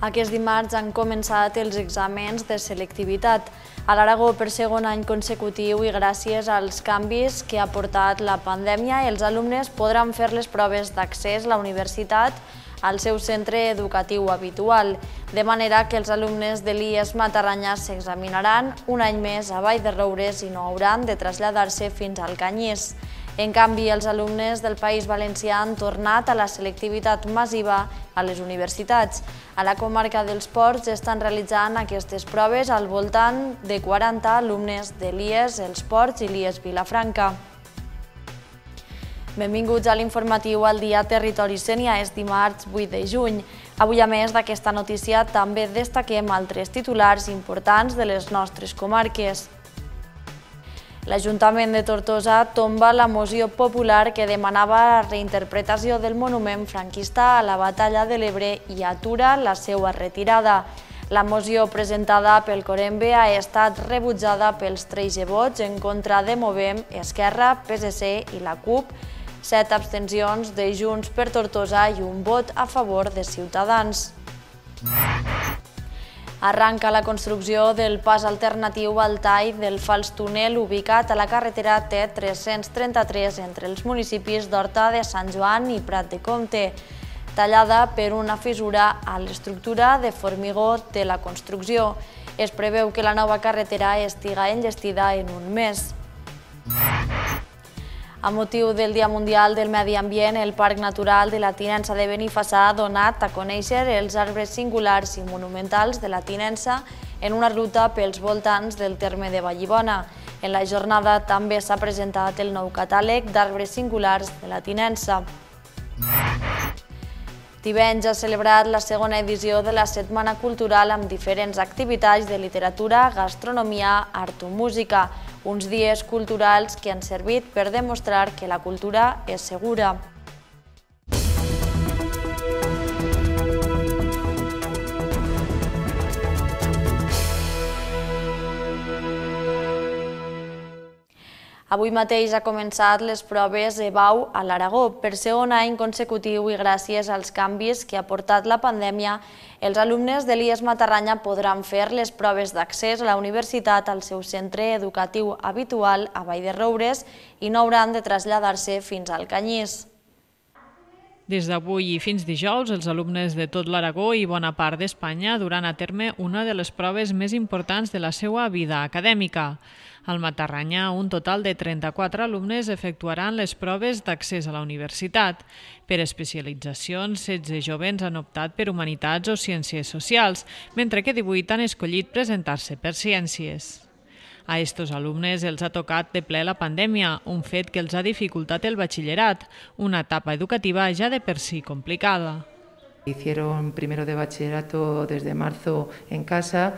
Aquest dimarts han començat els exàmens de selectivitat a l'Aragó per segon any consecutiu i gràcies als canvis que ha portat la pandèmia, els alumnes podran fer les proves d'accés a la universitat al seu centre educatiu habitual, de manera que els alumnes de l'IES Matarranya s'examinaran un any més a Vall-de-Roures i no hauran de traslladar-se fins al Canyís. En canvi, els alumnes del País Valencià han tornat a la selectivitat massiva a les universitats. A la comarca dels Ports estan realitzant aquestes proves al voltant de 40 alumnes de l'IES Els Ports i l'IES Vilafranca. Benvinguts a l'informatiu al dia Territori Sénia, és dimarts 8 de juny. Avui, a més d'aquesta notícia, també destaquem altres titulars importants de les nostres comarques. L'Ajuntament de Tortosa tomba la moció popular que demanava la reinterpretació del monument franquista a la Batalla de l'Ebre i atura la seva retirada. La moció presentada pel Corembe ha estat rebutjada pels 13 vots en contra de Movem, Esquerra, PSC i la CUP, 7 abstencions de Junts per Tortosa i un vot a favor de Ciutadans. Arranca la construcció del pas alternatiu al tall del fals túnel ubicat a la carretera T333 entre els municipis d'Horta de Sant Joan i Prat de Comte, tallada per una fissura a l'estructura de formigó de la construcció. Es preveu que la nova carretera estiga enllestida en un mes. A motiu del Dia Mundial del Medi Ambient, el Parc Natural de la Tinença de Benifassà ha donat a conèixer els arbres singulars i monumentals de la Tinença en una ruta pels voltants del terme de Vallibona. En la jornada també s'ha presentat el nou catàleg d'arbres singulars de la Tinença. Tivenys ha celebrat la segona edició de la Setmana Cultural amb diferents activitats de literatura, gastronomia, art o música, uns dies culturals que han servit per demostrar que la cultura és segura. Avui mateix ha començat les proves EBAU a l'Aragó. Per segon any consecutiu i gràcies als canvis que ha portat la pandèmia, els alumnes de l'IES Matarranya podran fer les proves d'accés a la universitat al seu centre educatiu habitual a Vall-de-Roures i no hauran de traslladar-se fins al Canyís. Des d'avui i fins dijous, els alumnes de tot l'Aragó i bona part d'Espanya duran a terme una de les proves més importants de la seva vida acadèmica. Al Matarranya, un total de 34 alumnes efectuaran les proves d'accés a la universitat. Per especialitzacions, 16 jovents han optat per Humanitats o Ciències Socials, mentre que 18 han escollit presentar-se per Ciències. A estos alumnes els ha tocat de ple la pandèmia, un fet que els ha dificultat el batxillerat, una etapa educativa ja de per si complicada. Hicieron primero de bachillerato desde marzo en casa,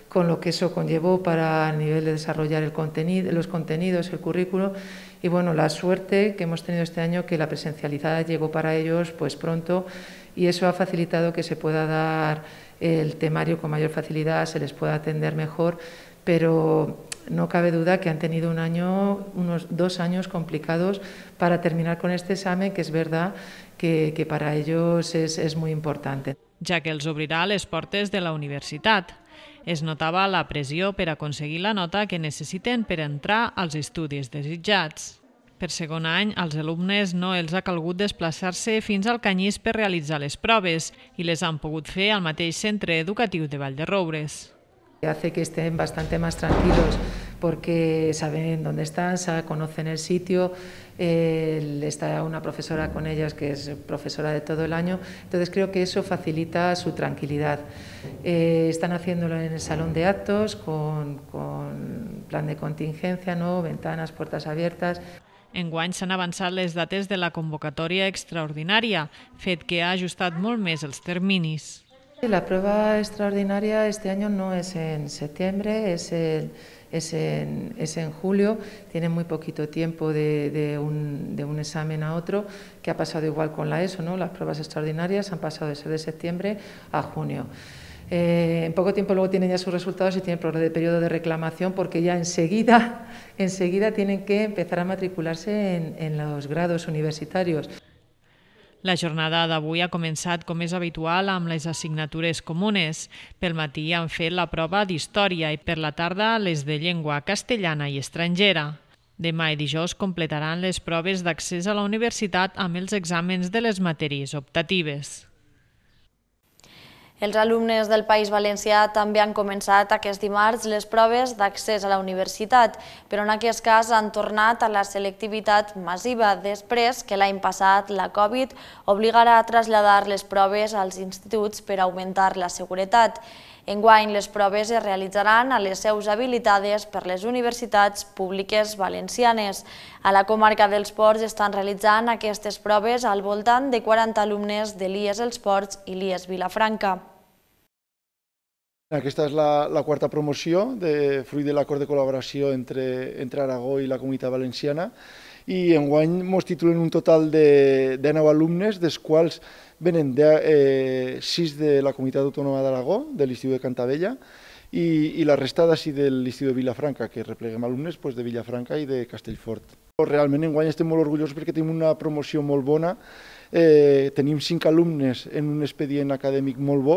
con lo que eso conllevó para el nivel de desarrollar los contenidos, el currículo, y bueno, la suerte que hemos tenido este año que la presencialidad llegó para ellos pues pronto y eso ha facilitado que se pueda dar el temario con mayor facilidad, se les pueda atender mejor, pero no cabe duda que han tenido unos 2 años complicados para terminar con este examen, que es verdad que para ellos es muy importante. Ja que els obrirà les portes de la universitat. Es notava la pressió per aconseguir la nota que necessiten per entrar als estudis desitjats. Per segon any, als alumnes no els ha calgut desplaçar-se fins al Canyís per realitzar les proves i les han pogut fer al mateix centre educatiu de Vall-de-Roures. Hace que estén bastante más tranquilos porque saben dónde están, conocen el sitio, está una profesora con ellas que es profesora de todo el año, entonces creo que eso facilita su tranquilidad. Están haciéndolo en el salón de actos con plan de contingencia, ¿no? Ventanas, puertas abiertas. Enguany s'han avançat les dates de la convocatòria extraordinària, fet que ha ajustat molt més els terminis. La prueba extraordinaria este año no es en septiembre, es en julio. Tienen muy poquito tiempo de un examen a otro, que ha pasado igual con la ESO, ¿no? Las pruebas extraordinarias han pasado de ser de septiembre a junio. En poco tiempo luego tienen ya sus resultados y tienen periodo de reclamación porque ya enseguida tienen que empezar a matricularse en los grados universitarios. La jornada d'avui ha començat, com és habitual, amb les assignatures comunes. Pel matí han fet la prova d'història i per la tarda les de llengua castellana i estrangera. Demà i dijous completaran les proves d'accés a la universitat amb els exàmens de les matèries optatives. Els alumnes del País Valencià també han començat aquest dimarts les proves d'accés a la universitat, però en aquest cas han tornat a la selectivitat massiva després que l'any passat la Covid obligarà a traslladar les proves als instituts per augmentar la seguretat. Enguany, les proves es realitzaran a les seus habilitades per les universitats públiques valencianes. A la comarca dels Ports estan realitzant aquestes proves al voltant de 40 alumnes de l'IES Els Ports i l'IES Vilafranca. Aquesta és la quarta promoció, fruit de l'acord de col·laboració entre Aragó i la Comunitat Valenciana, i enguany ens titulen un total de 9 alumnes, dels quals venen 6 de la Comunitat Autònoma d'Aragó, de l'Institut de Cantabella, i la resta d'ací de l'Institut de Vilafranca, que repleguem alumnes de Vilafranca i de Castellfort. Realment enguany estem molt orgullosos perquè tenim una promoció molt bona. Tenim 5 alumnes en un expedient acadèmic molt bo,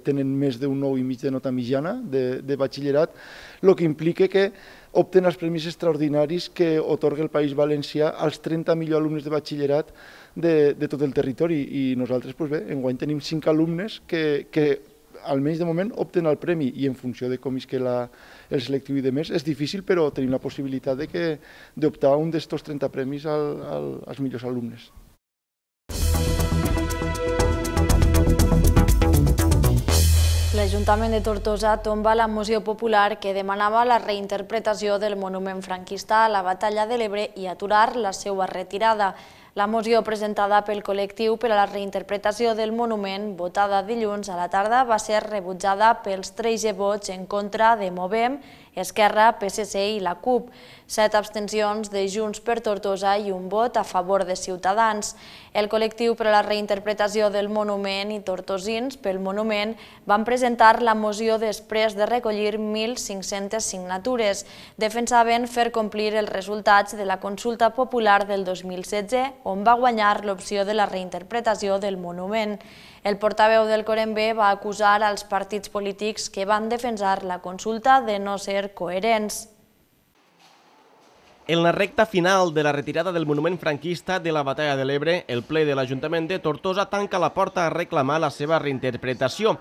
tenen més d'un 9,5 de nota mitjana de batxillerat, el que implica que opten els premis extraordinaris que atorga el País Valencià als 30 millors alumnes de batxillerat de tot el territori. I nosaltres, enguany tenim 5 alumnes que almenys de moment opten al premi, i en funció de com isque el selectiu i de més, és difícil, però tenim la possibilitat d'optar a un d'estos 30 premis als millors alumnes. L'Ajuntament de Tortosa tomba la moció popular que demanava la reinterpretació del monument franquista a la Batalla de l'Ebre i aturar la seva retirada. La moció presentada pel col·lectiu per a la reinterpretació del monument, votada dilluns a la tarda, va ser rebutjada pels 13 vots en contra de Movem, Esquerra, PSC i la CUP, 7 abstencions de Junts per Tortosa i un vot a favor de Ciutadans. El col·lectiu per a la reinterpretació del monument i tortosins pel monument van presentar la moció després de recollir 1.500 signatures. Defensaven fer complir els resultats de la consulta popular del 2016, on va guanyar l'opció de la reinterpretació del monument. El portaveu del Corembe va acusar als partits polítics que van defensar la consulta de no ser coherents. En la recta final de la retirada del monument franquista de la Batalla de l'Ebre, el ple de l'Ajuntament de Tortosa tanca la porta a reclamar la seva reinterpretació.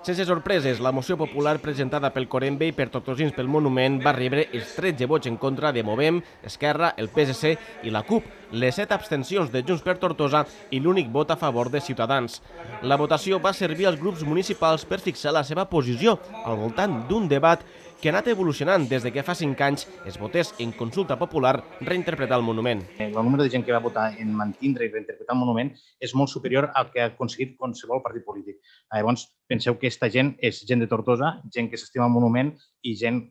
Sense sorpreses, la moció popular presentada pel Corembe i per tortosins pel monument va rebre els 13 vots en contra de Movem, Esquerra, el PSC i la CUP, les 7 abstencions de Junts per Tortosa i l'únic vot a favor de Ciutadans. La votació va servir als grups municipals per fixar la seva posició al voltant d'un debat que ha anat evolucionant des que fa 5 anys es votés en consulta popular reinterpretar el monument. El número de gent que va votar en mantindre i reinterpretar el monument és molt superior al que ha aconseguit qualsevol partit polític. Llavors, penseu que aquesta gent és gent de Tortosa, gent que s'estima el monument i gent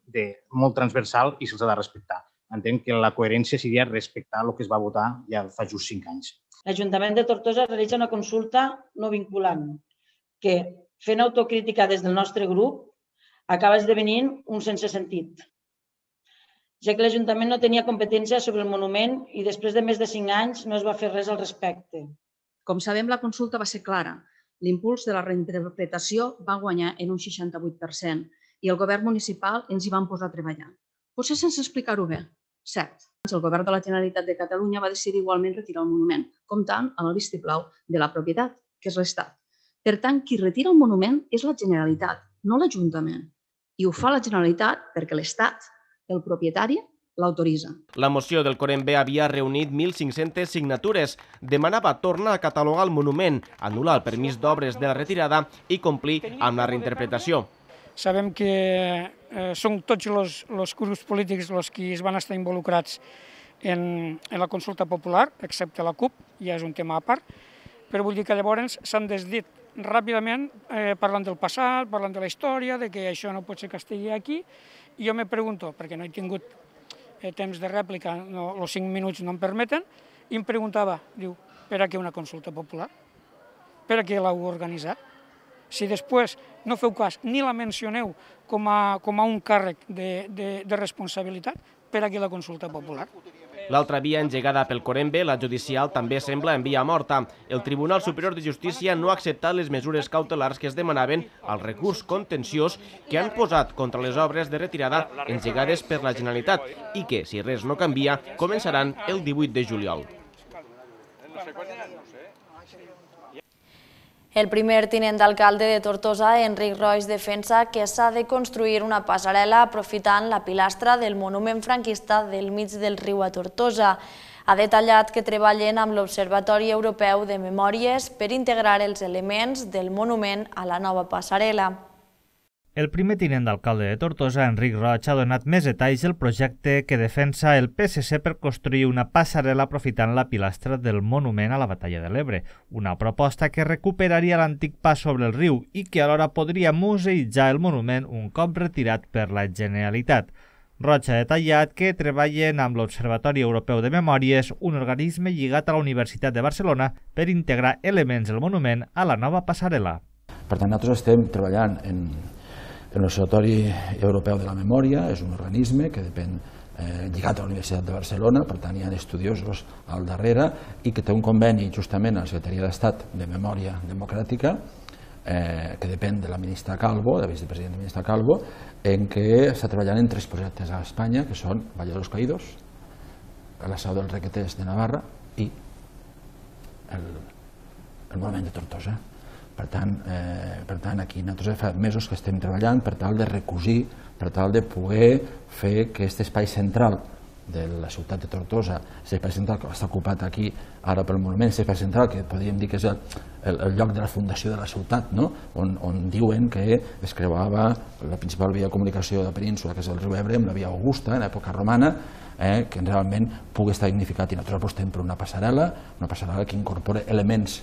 molt transversal i se'ls ha de respectar. Entenc que la coherència seria respectar el que es va votar ja fa just 5 anys. L'Ajuntament de Tortosa realitza una consulta no vinculant que, fent autocrítica des del nostre grup, acaba esdevenint un sense sentit, ja que l'Ajuntament no tenia competència sobre el monument i després de més de 5 anys no es va fer res al respecte. Com sabem, la consulta va ser clara. L'impuls de la reinterpretació va guanyar en un 68% i el govern municipal ens hi van posar a treballar. Potser sense explicar-ho bé, cert. El govern de la Generalitat de Catalunya va decidir igualment retirar el monument, comptant amb el vistiplau de la propietat, que és l'Estat. Per tant, qui retira el monument és la Generalitat, no l'Ajuntament. I ho fa la Generalitat perquè l'Estat, el propietari, l'autoritza. La moció del Corembe havia reunit 1.500 signatures. Demanava tornar a catalogar el monument, anul·lar el permís d'obres de la retirada i complir amb la reinterpretació. Sabem que són tots els grups polítics els que van estar involucrats en la consulta popular, excepte la CUP, ja és un tema a part, però vull dir que llavors s'han desdit ràpidament parlant del passat, parlant de la història, de que això no pot ser que estigui aquí, i jo me pregunto, perquè no he tingut temps de rèplica, els 5 minuts no em permeten, i em preguntava, diu, per a què una consulta popular? Per a què l'heu organitzat? Si després no feu cas ni la mencioneu com a un càrrec de responsabilitat, per a què la consulta popular? L'altra via engegada pel Corembe, la judicial, també sembla en via morta. El Tribunal Superior de Justícia no ha acceptat les mesures cautelars que es demanaven al recurs contenciós que han posat contra les obres de retirada engegades per la Generalitat i que, si res no canvia, començaran el 18 de juliol. El primer tinent d'alcalde de Tortosa, Enric Roig, defensa que s'ha de construir una passarel·la aprofitant la pilastra del monument franquista del mig del riu a Tortosa. Ha detallat que treballen amb l'Observatori Europeu de Memòries per integrar els elements del monument a la nova passarel·la. El primer tinent d'alcalde de Tortosa, Enric Roig, ha donat més detalls del projecte que defensa el PSC per construir una passarel·la aprofitant la pilastra del monument a la Batalla de l'Ebre, una proposta que recuperaria l'antic pas sobre el riu i que alhora podria museïtzar el monument un cop retirat per la Generalitat. Roig ha detallat que treballen amb l'Observatori Europeu de Memòries, un organisme lligat a la Universitat de Barcelona, per integrar elements del monument a la nova passarel·la. Per tant, nosaltres estem treballant en l'Observatori Europeu de la Memòria, és un organisme que depèn lligat a la Universitat de Barcelona, per tant hi ha estudiosos al darrere i que té un conveni justament a la Secretaria d'Estat de Memòria Democràtica que depèn de la ministra Calvo, de la vicepresidenta ministra Calvo, en què està treballant en 3 projectes a Espanya, que són Valle de los Caídos, la Sau dels Requeters de Navarra i el Monument de Tortosa. Per tant, aquí nosaltres fa mesos que estem treballant per tal de recosir, per tal de poder fer que aquest espai central de la ciutat de Tortosa, aquest espai central que està ocupat aquí ara pel monument, aquest espai central que podríem dir que és el lloc de la fundació de la ciutat, on diuen que es creuava la principal via de comunicació de la península, que és el riu Ebre, amb la via Augusta, en l'època romana, que realment pugui estar dignificat, i nosaltres apostem per una passarel·la que incorpora elements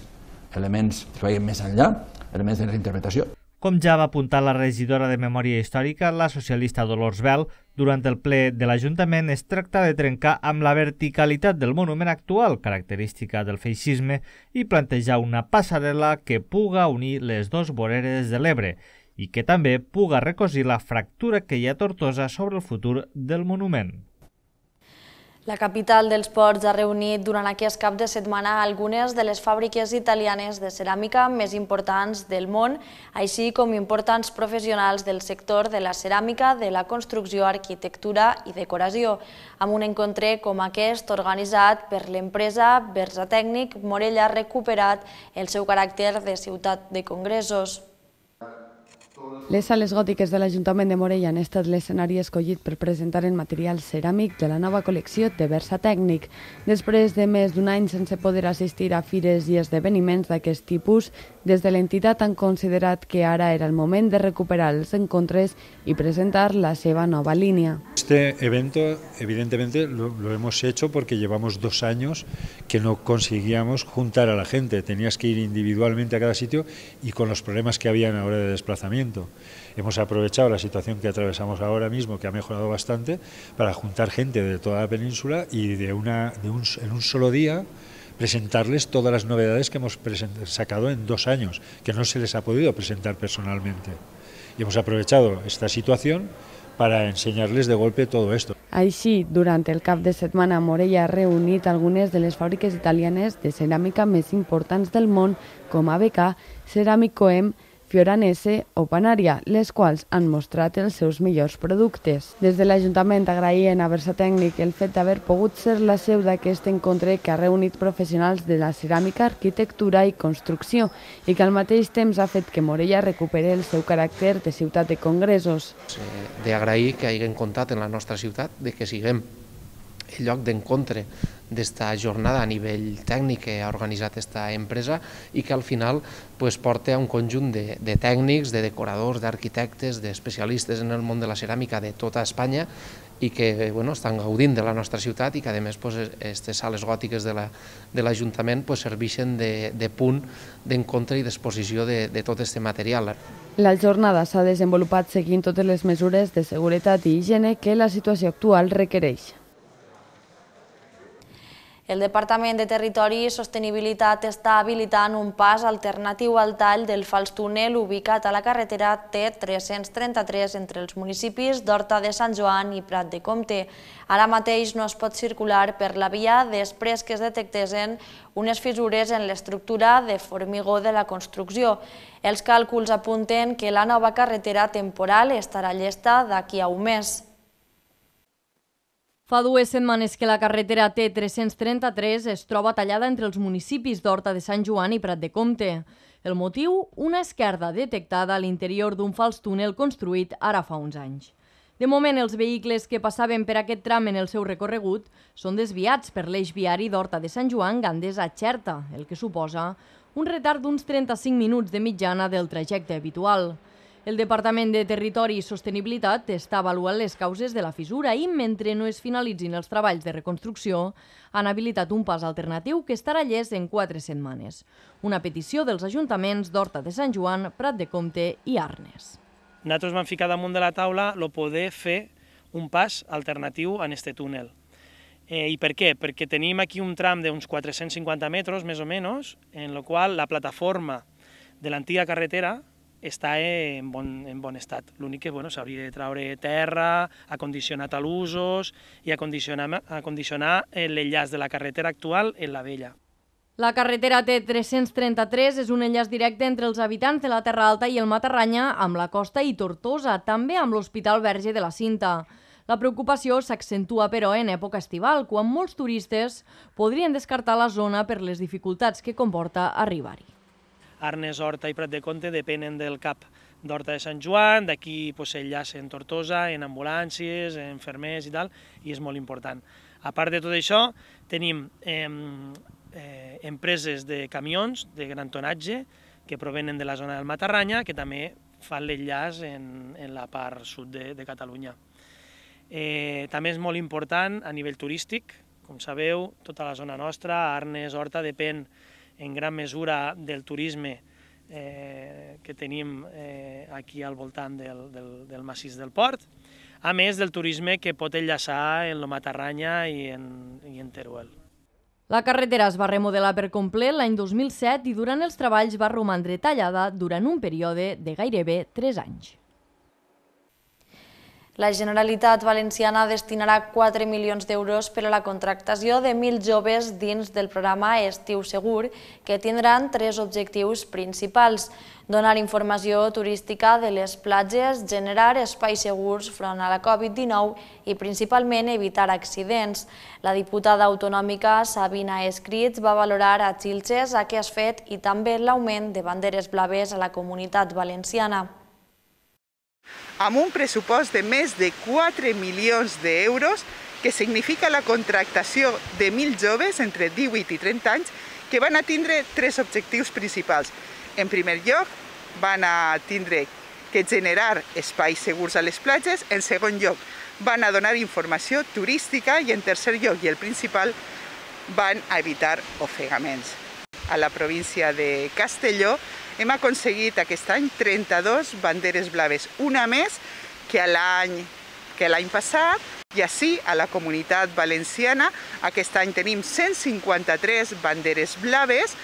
que vagin més enllà, elements de reinterpretació. Com ja va apuntar la regidora de Memòria Històrica, la socialista Dolors Bel, durant el ple de l'Ajuntament es tracta de trencar amb la verticalitat del monument actual, característica del feixisme, i plantejar una passarel·la que puga unir les 2 voreres de l'Ebre i que també puga recosir la fractura que hi ha a Tortosa sobre el futur del monument. La capital dels ports ha reunit durant aquest cap de setmana algunes de les fàbriques italianes de ceràmica més importants del món, així com importants professionals del sector de la ceràmica, de la construcció, arquitectura i decoració, amb un encontre com aquest organitzat per l'empresa Versatècnic. Morella ha recuperat el seu caràcter de ciutat de congressos. Les sales gòtiques de l'Ajuntament de Morella han estat l'escenari escollit per presentar el material ceràmic de la nova col·lecció de Versatècnic. Després de més d'un any sense poder assistir a fires i esdeveniments d'aquest tipus, des de l'entitat han considerat que ara era el moment de recuperar els encontres y presentar la seva nova línea. Este evento, evidentemente, lo hemos hecho porque llevamos 2 años que no conseguíamos juntar a la gente. Tenías que ir individualmente a cada sitio y con los problemas que había a la hora de desplazamiento. Hemos aprovechado la situación que atravesamos ahora mismo, que ha mejorado bastante, para juntar gente de toda la península y en un solo día presentarles todas las novedades que hemos sacado en 2 años, que no se les ha podido presentar personalmente. Y hemos aprovechado esta situación para enseñarles de golpe todo esto. Així, durant el cap de setmana, Morella ha reunit algunes de les fàbriques italianes de ceràmica més importants del món, com ABK, Ceramicoem, Fioranese o Panaria, les quals han mostrat els seus millors productes. Des de l'Ajuntament agraïen a Versatècnic el fet d'haver pogut ser la seu d'aquest encontre que ha reunit professionals de la ceràmica, arquitectura i construcció i que al mateix temps ha fet que Morella recuperi el seu caràcter de ciutat de congressos. D'agrair que hagin comptat en la nostra ciutat, de que siguem el lloc d'encontre d'esta jornada a nivell tècnic que ha organitzat aquesta empresa i que al final porta un conjunt de tècnics, de decoradors, d'arquitectes, d'especialistes en el món de la ceràmica de tota Espanya i que estan gaudint de la nostra ciutat i que a més aquestes sales gòtiques de l'Ajuntament serveixen de punt d'encontre i d'exposició de tot aquest material. La jornada s'ha desenvolupat seguint totes les mesures de seguretat i higiene que la situació actual requereix. El Departament de Territori i Sostenibilitat està habilitant un pas alternatiu al tall del fals túnel ubicat a la carretera T333 entre els municipis d'Horta de Sant Joan i Prat de Comte. Ara mateix no es pot circular per la via després que es detectessin unes fissures en l'estructura de formigó de la construcció. Els càlculs apunten que la nova carretera temporal estarà llesta d'aquí a un mes. Fa 2 setmanes que la carretera T333 es troba tallada entre els municipis d'Horta de Sant Joan i Prat de Comte. El motiu? Una esquerda detectada a l'interior d'un fals túnel construït ara fa uns anys. De moment, els vehicles que passaven per aquest tram en el seu recorregut són desviats per l'eix viari d'Horta de Sant Joan Gandesa a Xerta, el que suposa un retard d'uns 35 minuts de mitjana del trajecte habitual. El Departament de Territori i Sostenibilitat està avaluant les causes de la fissura i, mentre no es finalitzin els treballs de reconstrucció, han habilitat un pas alternatiu que estarà llest en 4 setmanes. Una petició dels ajuntaments d'Horta de Sant Joan, Prat de Comte i Arnes. Nosaltres vam ficar damunt de la taula el poder fer un pas alternatiu en aquest túnel. I per què? Perquè tenim aquí un tram d'uns 450 metres, més o menys, en el qual la plataforma de l'antiga carretera està en bon estat. L'únic que s'hauria de treure terra, acondicionar talussos i acondicionar l'enllaç de la carretera actual en la vella. La carretera T333 és un enllaç directe entre els habitants de la Terra Alta i el Matarranya amb la costa i Tortosa, també amb l'Hospital Verge de la Cinta. La preocupació s'accentua, però, en època estival, quan molts turistes podrien descartar la zona per les dificultats que comporta arribar-hi. Arnes, Horta i Prat de Comte depenen del CAP d'Horta de Sant Joan, d'aquí s'enllaça en Tortosa, en ambulàncies, en infermers i tal, i és molt important. A part de tot això, tenim empreses de camions de gran tonatge que provenen de la zona del Matarranya, que també fan l'enllaç en la part sud de Catalunya. També és molt important a nivell turístic, com sabeu, tota la zona nostra, Arnes, Horta, depèn en gran mesura del turisme que tenim aquí al voltant del massís del port, a més del turisme que pot enllaçar en el Matarranya i en Teruel. La carretera es va remodelar per complet l'any 2007 i durant els treballs va romandre tallada durant un període de gairebé 3 anys. La Generalitat Valenciana destinarà 4 milions d'euros per a la contractació de 1.000 joves dins del programa Estiu Segur, que tindran 3 objectius principals: donar informació turística de les platges, generar espais segurs front a la Covid-19 i principalment evitar accidents. La diputada autonòmica Sabina Escrits va valorar a Xilxes aquest fet i també l'augment de banderes blaves a la Comunitat Valenciana. Amb un pressupost de més de 4 milions d'euros, que significa la contractació de 1.000 joves entre 18 i 30 anys que van a tindre 3 objectius principals. En primer lloc, van a tindre que generar espais segurs a les platges, en segon lloc, van a donar informació turística i en tercer lloc, i el principal, van a evitar ofegaments. A la província de Castelló hem aconseguit aquest any 32 banderes blaves, una més que l'any passat, i així a la Comunitat Valenciana aquest any tenim 153 banderes blaves,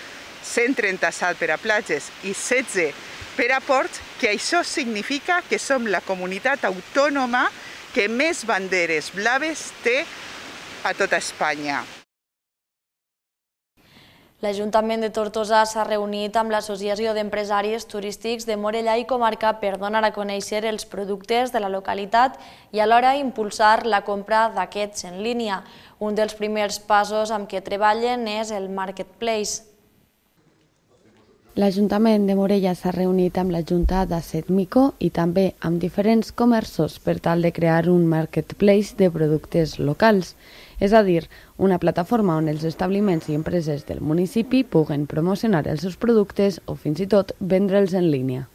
137 per a platges i 16 per a ports, que això significa que som la comunitat autònoma que més banderes blaves té a tota Espanya. L'Ajuntament de Tortosa s'ha reunit amb l'Associació d'Empresaris Turístics de Morellà i Comarca per donar a conèixer els productes de la localitat i alhora impulsar la compra d'aquests en línia. Un dels primers passos amb què treballen és el Marketplace. L'Ajuntament de Morella s'ha reunit amb la Junta d'Assetmico i també amb diferents comerços per tal de crear un marketplace de productes locals, és a dir, una plataforma on els establiments i empreses del municipi puguen promocionar els seus productes o fins i tot vendre'ls en línia.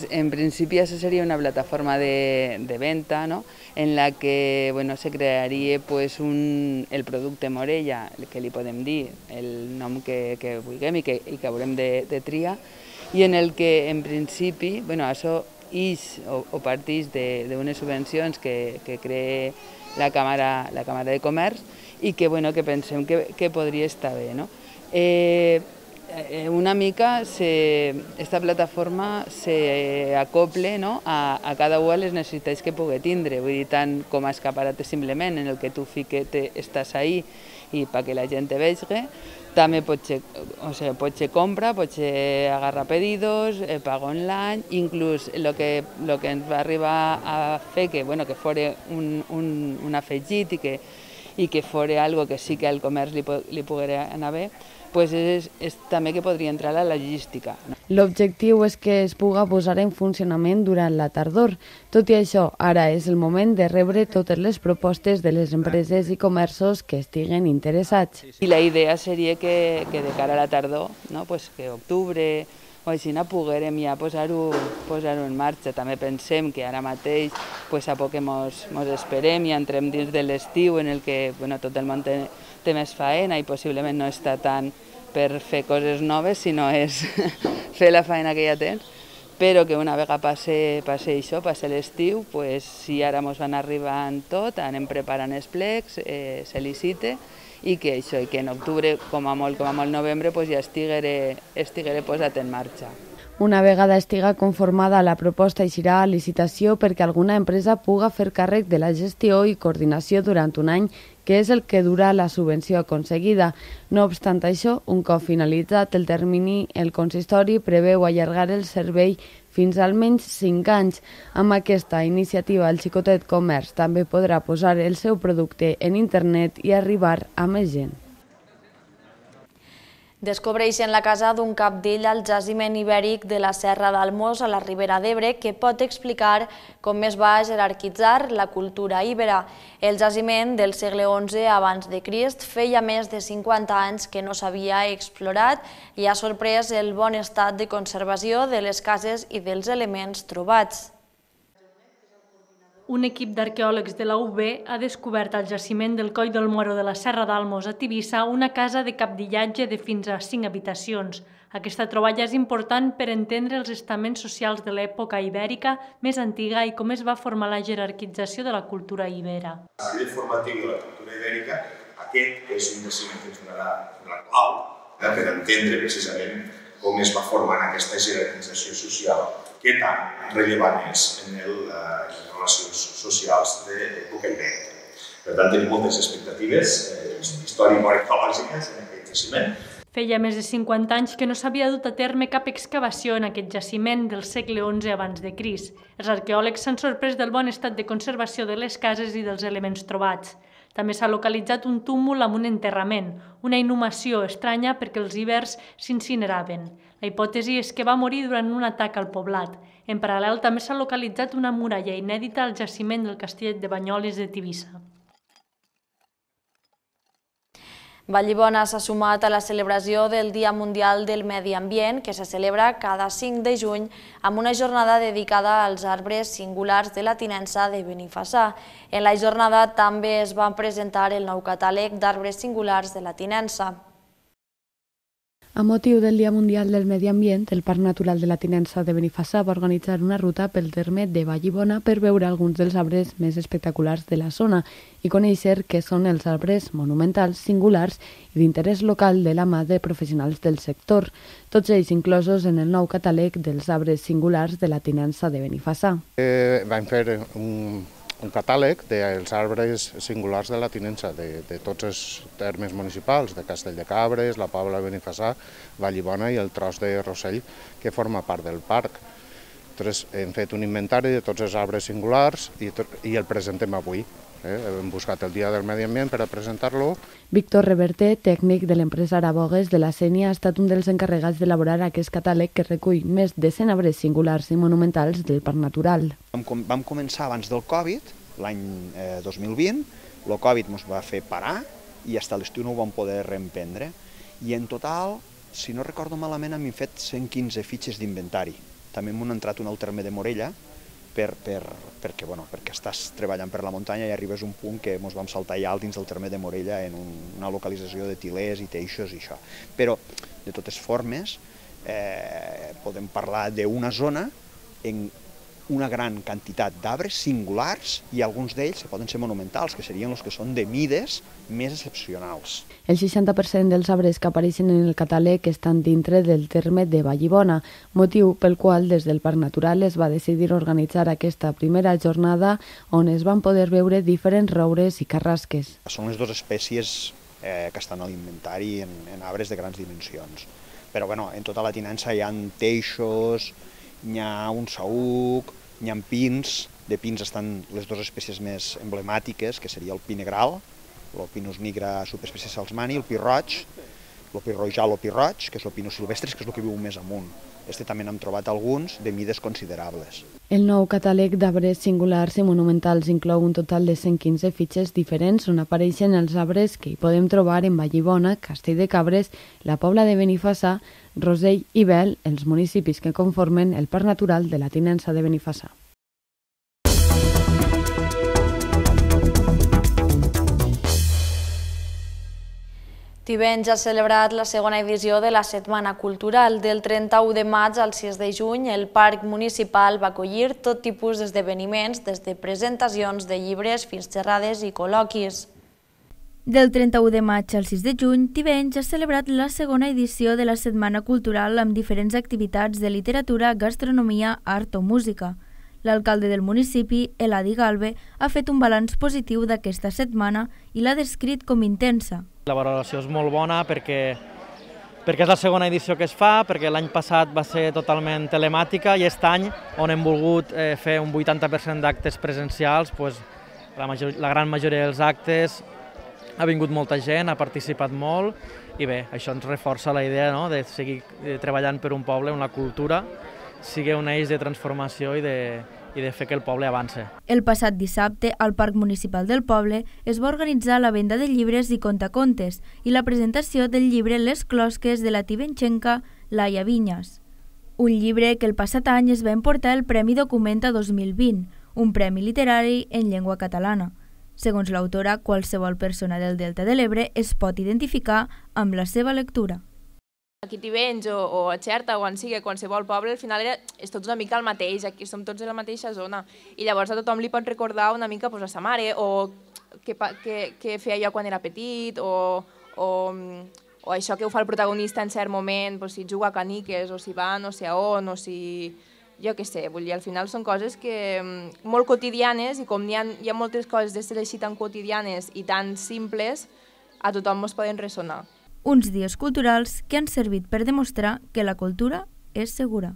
En principi, això seria una plataforma de venta, ¿no?, en la que se crearia el producte Morella, que li podem dir el nom que vulguem i que haurem de triar, i en el que, en principi, això o parteix d'unes subvencions que crea la Càmera de Comerç i que pensem que podria estar bé. Una mica esta plataforma s'acople a cada una de les necessitats que pugui tindre, vull dir, tant com a escaparat simplement en el que tu estàs ahí i perquè la gent te vegi, també pot ser compra, pot ser agarrar pedidos, pagar online, inclús el que ens va arribar a fer que fos un afegit i que fos algo que sí que al comerç li poguera anar bé, és també que podria entrar a la logística. L'objectiu és que es pugui posar en funcionament durant la tardor. Tot i això, ara és el moment de rebre totes les propostes de les empreses i comerços que estiguen interessats. I la idea seria que de cara a la tardor, que octubre o així poguérem ja posar-ho en marxa. També pensem que ara mateix a poc que mos esperem i entrem dins de l'estiu en el que tot el món té més faena i possiblement no està tant per fer coses noves, sinó és fer la faena que ja tens, però que una vegada passe l'estiu, si ara ens van arribant tot, anem preparant els plecs, se licite, i que en octubre, com a molt novembre, ja estiguera posat en marxa. Una vegada estiga conformada la proposta eixirà a licitació perquè alguna empresa puga fer càrrec de la gestió i coordinació durant un any, que és el que dura la subvenció aconseguida. No obstant això, un cop finalitzat el termini, el consistori preveu allargar el servei fins almenys 5 anys. Amb aquesta iniciativa, el xicotet comerç també podrà posar el seu producte en internet i arribar a més gent. Descobreixen la casa d'un cabdill al jaciment ibèric de la Serra d'Almos a la Ribera d'Ebre que pot explicar com es va jerarquitzar la cultura íbera. El jaciment del segle XI abans de Crist feia més de 50 anys que no s'havia explorat i ha sorprès el bon estat de conservació de les cases i dels elements trobats. Un equip d'arqueòlegs de la UB ha descobert al jaciment del Coll del Moro de la Serra d'Almos a Tivissa una casa de cabdillatge de fins a 5 habitacions. Aquesta troballa és important per entendre els estaments socials de l'època ibèrica més antiga i com es va formar la jerarquització de la cultura ibera. A nivell formatiu de la cultura ibèrica, aquest és un jaciment que ens donarà la clau per entendre precisament com es va formar aquesta jerarquització social, que tan rellevant és en les relacions socials de l'època ibèrica. Per tant, tenim moltes expectatives històrico-arqueològiques en aquest jaciment. Feia més de 50 anys que no s'havia dut a terme cap excavació en aquest jaciment del segle XI abans de Crist. Els arqueòlegs s'han sorprès del bon estat de conservació de les cases i dels elements trobats. També s'ha localitzat un túmul amb un enterrament, una inhumació estranya perquè els ibers s'incineraven. La hipòtesi és que va morir durant un atac al poblat. En paral·lel també s'ha localitzat una muralla inèdita al jaciment del Castell de Banyoles de Tivissa. Vallibona s'ha sumat a la celebració del Dia Mundial del Medi Ambient, que se celebra cada 5 de juny amb una jornada dedicada als arbres singulars de la tinença de Benifassà. En la jornada també es va presentar el nou catàleg d'arbres singulars de la tinença. A motiu del Dia Mundial del Medi Ambient, el Parc Natural de la Tinença de Benifassà va organitzar una ruta pel terme de Vallibona per veure alguns dels arbres més espectaculars de la zona i conèixer què són els arbres monumentals, singulars i d'interès local de la mà de professionals del sector, tots ells inclosos en el nou catàleg dels arbres singulars de la Tinença de Benifassà. Vam fer un catàleg dels arbres singulars de la tinença de tots els termes municipals, de Castell de Cabres, la Pobla de Benifassà, Vallibona i el tros de Rossell, que forma part del parc. Hem fet un inventari de tots els arbres singulars i el presentem avui. Hem buscat el Dia del Medi Ambient per a presentar-lo. Víctor Reverter, tècnic de l'empresa Arabogues de la Sénia, ha estat un dels encarregats d'elaborar aquest catàleg que recull més de 100 arbres singulars i monumentals del Parc Natural. Vam començar abans del Covid, l'any 2020, el Covid ens va fer parar i fins a l'estiu no ho vam poder reemprendre. I en total, si no recordo malament, hem fet 115 fitxes d'inventari. També hem entrat un al terme de Morella, perquè estàs treballant per la muntanya i arribes a un punt que ens vam saltar ja dins del terme de Morella en una localització de tilers i teixos i això. Però, de totes formes, podem parlar d'una zona una gran quantitat d'arbres singulars i alguns d'ells poden ser monumentals, que serien els que són de mides més excepcionals. El 60% dels arbres que apareixen en el catàleg estan dintre del terme de Vallibona, motiu pel qual des del Parc Natural es va decidir organitzar aquesta primera jornada on es van poder veure diferents roures i carrasques. Són les dues espècies que estan a l'inventari en arbres de grans dimensions. Però en tota la tinença hi ha teixos, hi ha un saüc, hi ha pins. De pins estan les dues espècies més emblemàtiques, que seria el pi negral, el Pinus nigra subespècie salzmani, el pi roig, el pi rojal o pi roig, que és el Pinus silvestris, que és el que viu més amunt. També n'hem trobat alguns de mides considerables. El nou catàleg d'arbres singulars i monumentals inclou un total de 115 fitxes diferents on apareixen els arbres que hi podem trobar en Vallibona, Castell de Cabres, la Pobla de Benifassà, Rosell i Bel, els municipis que conformen el Parc Natural de la Tinença de Benifassà. Tivenys ha celebrat la segona edició de la Setmana Cultural. Del 31 de maig al 6 de juny, el Parc Municipal va acollir tot tipus d'esdeveniments, des de presentacions de llibres fins xerrades i col·loquis. Del 31 de maig al 6 de juny, Tivenys ha celebrat la segona edició de la Setmana Cultural amb diferents activitats de literatura, gastronomia, art o música. L'alcalde del municipi, Eladi Galve, ha fet un balanç positiu d'aquesta setmana i l'ha descrit com intensa. La valoració és molt bona perquè és la segona edició que es fa, perquè l'any passat va ser totalment telemàtica i aquest any, on hem volgut fer un 80% d'actes presencials, la gran majoria dels actes ha vingut molta gent, ha participat molt i bé, això ens reforça la idea de seguir treballant per un poble on la cultura sigui un eix de transformació i de fer que el poble avance. El passat dissabte, al Parc Municipal del poble, es va organitzar la venda de llibres i contacontes i la presentació del llibre Les closques de la tivenxenca Laia Vinyas. Un llibre que el passat any es va emportar el Premi Documenta 2020, un premi literari en llengua catalana. Segons l'autora, qualsevol persona del Delta de l'Ebre es pot identificar amb la seva lectura. Aquí a Tivenys o a Xerta o on sigui, a qualsevol poble, al final és tot una mica el mateix, aquí som tots de la mateixa zona i llavors a tothom li pot recordar una mica a sa mare o què feia jo quan era petit o això que ho fa el protagonista en cert moment, si juga a caniques o si va no sé a on o si... jo què sé, vull dir, al final són coses molt quotidianes i com hi ha moltes coses d'estes així tan quotidianes i tan simples, a tothom ens poden ressonar. Uns dies culturals que han servit per demostrar que la cultura és segura.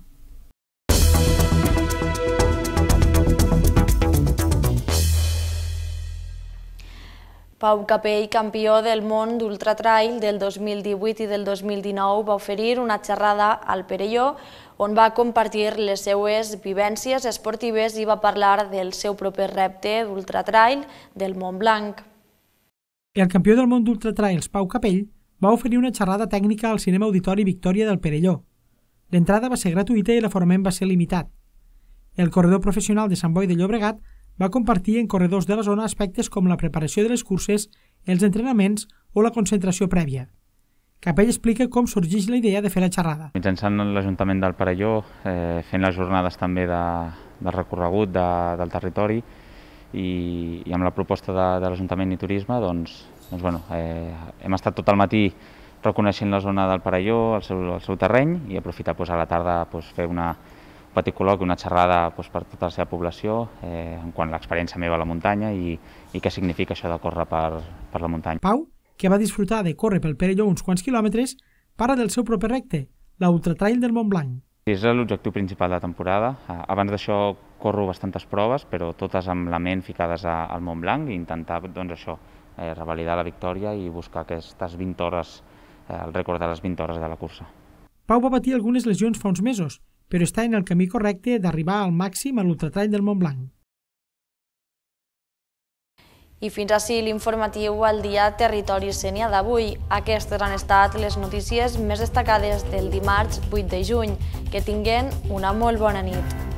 Pau Capell, campió del món d'ultratrail del 2018 i del 2019, va oferir una xerrada al Perelló on va compartir les seues vivències esportives i va parlar del seu proper repte d'ultratrail del Mont Blanc. El campió del món d'ultratrails, Pau Capell, va oferir una xerrada tècnica al Cinema Auditori Victòria del Perelló. L'entrada va ser gratuïta i l'aforament va ser limitat. El corredor professional de Sant Boi de Llobregat va compartir en corredors de la zona aspectes com la preparació de les curses, els entrenaments o la concentració prèvia. Capell explica com sorgeix la idea de fer la xerrada. Mitjançant l'Ajuntament del Perelló, fent les jornades també de recorregut del territori i amb la proposta de l'Ajuntament i Turisme, hem estat tot el matí reconeixent la zona del Perelló, el seu terreny, i aprofitar a la tarda fer un petit col·loqui, una xerrada per tota la seva població en quant a l'experiència meva a la muntanya i què significa això de córrer per la muntanya. Pau, que va disfrutar de córrer pel Perelló uns quants quilòmetres, parla del seu proper repte, l'Ultratrail del Mont Blanc. És l'objectiu principal de la temporada. Abans d'això corro bastantes proves, però totes amb la ment ficades al Mont Blanc i intentar revalidar la victòria i buscar aquestes 20 hores, el rècord de les 20 hores de la cursa. Pau va patir algunes lesions fa uns mesos, però està en el camí correcte d'arribar al màxim a l'Ultratrail del Mont Blanc. I fins ací l'informatiu al dia Territori Sénia d'avui. Aquestes han estat les notícies més destacades del dimarts 8 de juny. Que tinguen una molt bona nit.